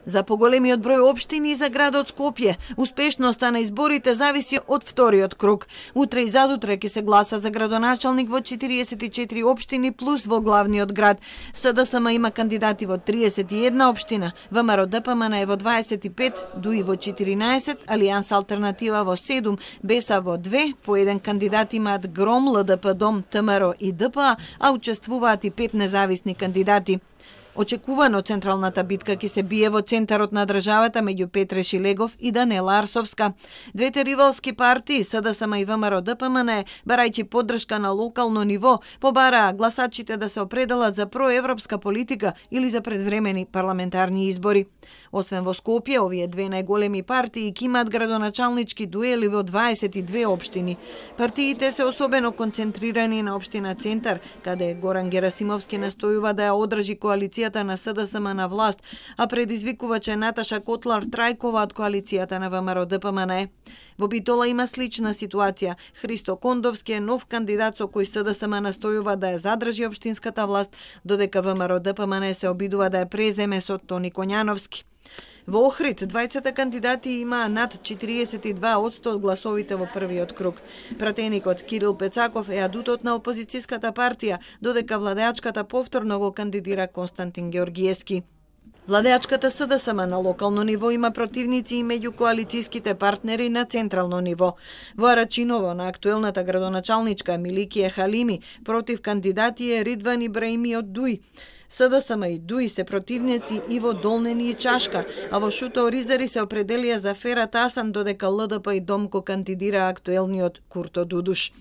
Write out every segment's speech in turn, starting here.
За поголемиот број општини и за градот Скопје, успешноста на изборите зависи од вториот круг. Утре и задутре ќе се гласа за градоначалник во 44 општини плюс во главниот град. СДСМ има кандидати во 31 општина, ВМРО-ДПМН е во 25, ДУИ во 14, Алијанс Алтернатива во 7, БЕСА во 2, по еден кандидат имаат ГРОМ, ЛДП ДОМ, ТМРО и ДПА, а учествуваат и 5 независни кандидати. Очекувано централната битка ќе се бие во центарот на државата меѓу Петре Шилегов и Данела Арсовска. Двете ривалски партии, СДСМ и ВМРО-ДПМН, барајќи поддршка на локално ниво, побараа гласачите да се определат за проевропска политика или за предвремени парламентарни избори. Освен во Скопје, овие две најголеми партии ќе имаат градоначалнички дуели во 22 општини. Партиите се особено концентрирани на општина Центар, каде Горан Герасимовски настојува да ја одржи коалицијата на СДСМ на власт, а предизвикувач е Наташа Котлар-Трајкова од коалицијата на ВМРО-ДПМН. Во Битола има слична ситуација. Христо Кондовски е нов кандидат со кој СДСМ настојува да ја задржи општинската власт, додека ВМРО-ДПМН се обидува да ја преземе со Тони Коњановски. Во Охрид, двајцата кандидати имаа над 42% од гласовите во првиот круг. Пратеникот Кирил Пецаков е адутот на опозицијската партија, додека владеачката повторно го кандидира Константин Георгиевски. Владеачката СДСМ на локално ниво има противници и меѓу коалицијските партнери на централно ниво. Во Арачиново на актуелната градоначалничка Миликија Халими против кандидати е Ридван Ибраими од ДУИ. СДСМ и ДУИ се противници и во Долнени и Чашка, а во Шута Оризари се определија за Ферат Асан, додека ЛДП и Домко кандидира актуелниот Курто Дудуш.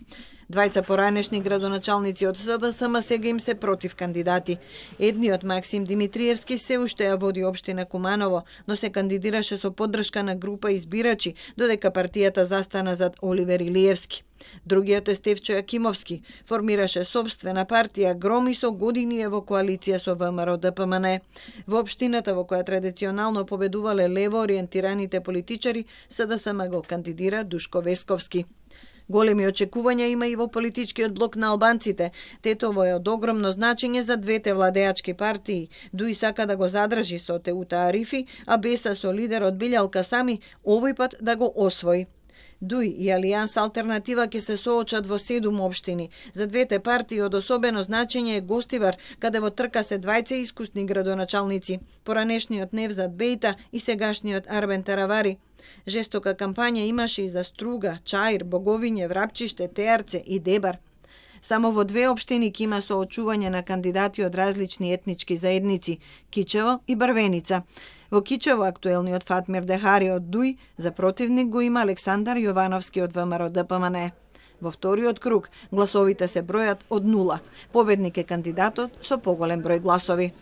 Двајца поранешни градоначалници од СДСМ сега им се против кандидати. Едниот, Максим Димитриевски, се уште ја води општина Куманово, но се кандидираше со поддршка на група избирачи, додека партијата застана зад Оливер Илиевски. Другиот е Стефчо Јакимовски, формираше собствена партија ГРОМ и со години е во коалиција со ВМРО-ДПМН. Во општината во која традиционално победувале лево ориентираните политичари, СДСМ го кандидира Душко Весковски. Големи очекувања има и во политичкиот блок на албанците. Тетово е од огромно значење за двете владеачки партии. ДУИ сака да го задржи со Теута Арифи, а БЕСА со лидерот Билјал Касами овој пат да го освои. ДУИ и Алијанс Алтернатива ќе се соочат во 7 општини. За двете партии од особено значење е Гостивар, каде во трка се двајца искусни градоначалници, поранешниот Невзат Бејта и сегашниот Арбен Таравари. Жестока кампања имаше и за Струга, Чаир, Боговиње, Врапчиште, Теарце и Дебар. Само во 2 општини ќе има соочување на кандидати од различни етнички заедници – Кичево и Барвеница. Во Кичево актуелниот Фатмир Дехари од ДУИ, за противник го има Александар Јовановски од ВМРО-ДПМН. Во вториот круг гласовите се бројат од 0. Победник е кандидатот со поголем број гласови.